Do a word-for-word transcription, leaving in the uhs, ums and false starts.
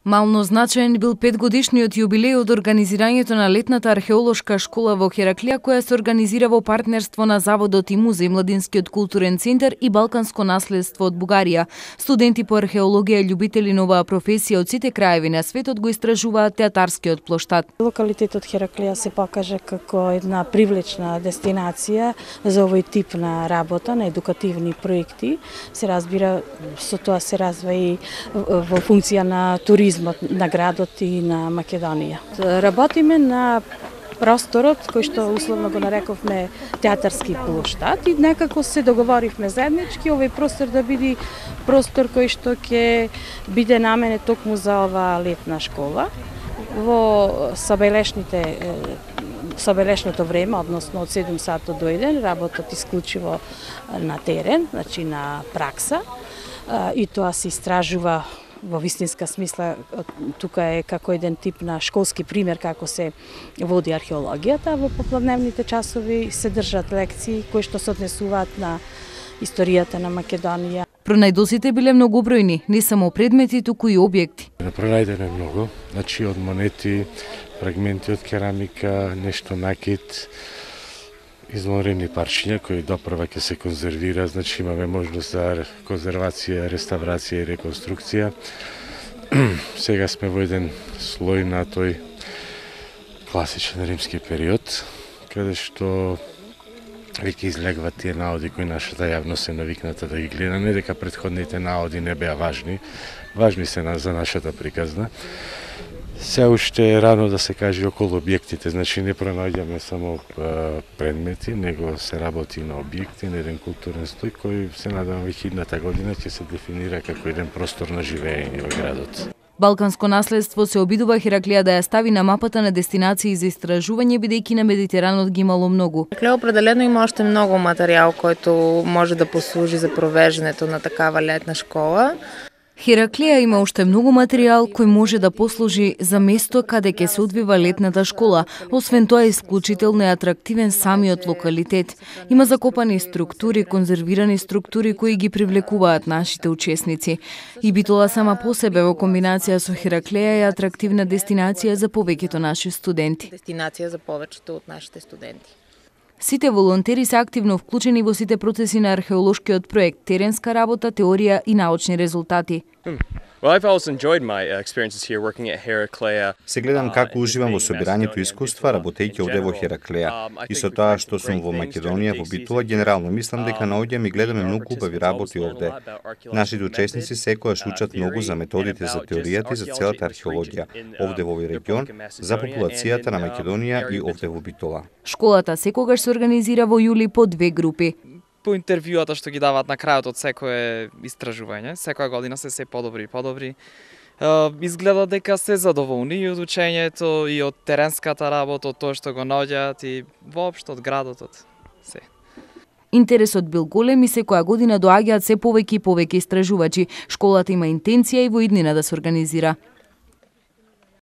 Мално значаен бил петгодишниот јубилеј од организирањето на летната археолошка школа во Хераклија, која се организира во партнерство на Заводот и музеј, Младинскиот културен центар и Балканско наследство од Бугарија. Студенти по археологија и љубители на оваа професија од сите краеви на светот го истражуваат театарскиот плоштад. Локалитетот Хераклија се покажа како една привлечна дестинација за овој тип на работа, на едукативни проекти. Се разбира, со тоа се развива и во функција на туризм на градот и на Македонија. Работиме на просторот кој што условно го нарековме театарски плоштад и некако се договоривме заеднички овој простор да биде простор кој што ќе биде наменет токму за оваа летна школа. Во собелешните собелешното време, односно од седум сати до еден, работат исклучиво на терен, значи на пракса, и тоа се истражува во вистинска смисла. Тука е како еден тип на школски пример како се води археологијата. Во попладневните часови се држат лекции кои што се однесуваат на историјата на Македонија. Пронајдосите биле многобројни, не само предмети, туку и објекти. Пронајдено е многу, значи од монети, фрагменти од керамика, нешто накит, извонредни парчиња кои допрва ќе се конзервира, значи имаме можност за конзервација, реставрација и реконструкција. Сега сме во еден слој на тој класичен римски период, каде што веќе излегват тие наоди кои нашата јавност е навикната да ги гледа, не дека претходните наоди не беа важни, важни се за нашата приказна. Се уште е рано да се каже околу објектите, значи не пронаѓаме само предмети, него се работи на објекти, на еден културен стој кој се надевам веќе идната година ќе се дефинира како еден простор на живење во градот. Балканско наследство се обидува Хераклија да ја стави на мапата на дестинации за истражување, бидејќи на Медитеранот ги имало многу. Хераклија определено има уште многу материјал којто може да послужи за провеждането на такава летна школа. Хераклија има уште многу материјал кој може да послужи за место каде ќе се одвива летната школа. Освен тоа е исклучително и атрактивен самиот локалитет. Има закопани структури, конзервирани структури кои ги привлекуваат нашите учесници. И Битола сама по себе во комбинација со Хераклија е атрактивна дестинација за повеќето наши студенти. Дестинација за повеќето од нашите студенти. Сите волонтери се активно вклучени во сите процеси на археолошкиот проект, теренска работа, теорија и научни резултати. Се гледам како уживам во собирањето искуства, работејќи овде во Хераклија. И со тоа што сум во Македонија, во Битола, генерално мислам дека наоѓам и гледаме многу убави работи овде. Нашите учесници секогаш учат многу за методите за теоријата и за целата археологија, овде во овој регион, за популацијата на Македонија и овде во Битола. Школата секогаш се организира во јули по две групи. По интервјуата што ги даваат на крајот од секое истражување, секоја година се се подобри и подобри. Изгледа дека се задоволни и од учењето, и од теренската работа, од тоа што го наоѓаат и воопшто од градот, од се. Интересот бил голем и секоја година доаѓаат се повеќе и повеќе истражувачи. Школата има интенција и во иднина да се организира.